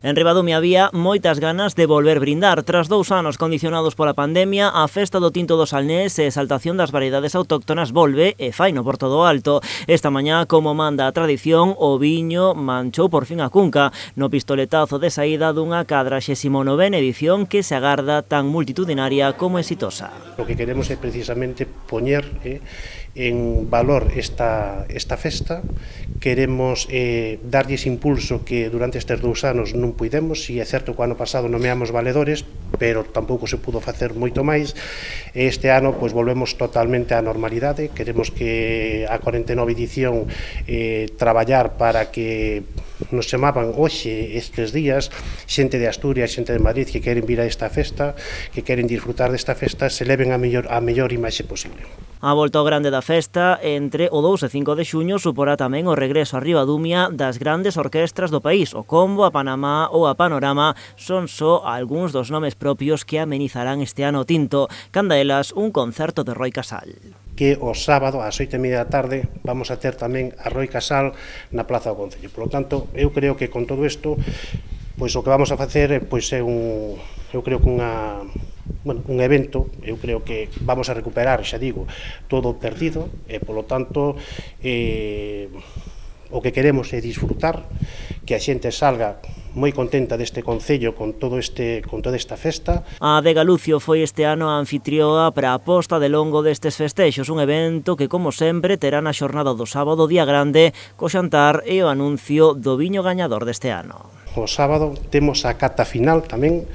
En Ribadumia había moitas ganas de volver brindar. Tras 2 anos condicionados pola pandemia, a festa do tinto do Salnés e exaltación das variedades autóctonas volve e faino por todo o alto. Esta mañá, como manda a tradición, o viño manchou por fin a cunca no pistoletazo de saída dunha 49ª edición que se agarda tan multitudinaria como exitosa. O que queremos é precisamente poñer en valor esta festa. Queremos darlles impulso que durante estes 2 anos non puidemos. Si é certo que o ano pasado nomeamos valedores, pero tampouco se pudo facer moito máis. Este ano pois volvemos totalmente á normalidade. Queremos que a 49 edición traballar para que nos chamaban hoxe estes días xente de Asturias, xente de Madrid que queren vir a esta festa, que queren disfrutar desta festa, se leven a mellor imaxe posible. A volta ao grande da festa entre o 2 e 5 de xuño suporá tamén o regreso a Ribadumia das grandes orquestras do país. O Combo, a Panamá ou a Panorama son só algúns dos nomes propios que amenizarán este ano o tinto. Canda elas un concerto de Roi Casal. Que o sábado ás 8:30 da tarde vamos a ter tamén a Roi Casal na Plaza do Concello. Por lo tanto, eu creo que con todo isto, pois o que vamos a facer pois é un evento. Eu creo que vamos a recuperar, xa digo, todo o perdido e, polo tanto, o que queremos é disfrutar, que a xente salga moi contenta deste concello con toda esta festa. A Adega Lucio foi este ano a anfitrioa para a posta de longo destes festexos, un evento que, como sempre, terá na xornada do sábado día grande, co xantar e o anuncio do viño gañador deste ano. O sábado temos a cata final tamén,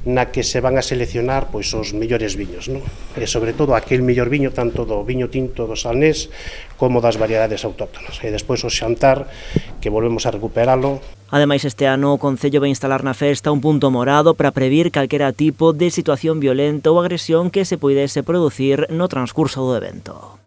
na que se van a seleccionar pois os mellores viños, non? E sobre todo aquel mellor viño tanto do viño tinto do Salnés como das variedades autóctonas. E despois o xantar, que volvemos a recuperalo. Ademais, este ano o Concello vai instalar na festa un punto morado para previr calquera tipo de situación violenta ou agresión que se puidese producir no transcurso do evento.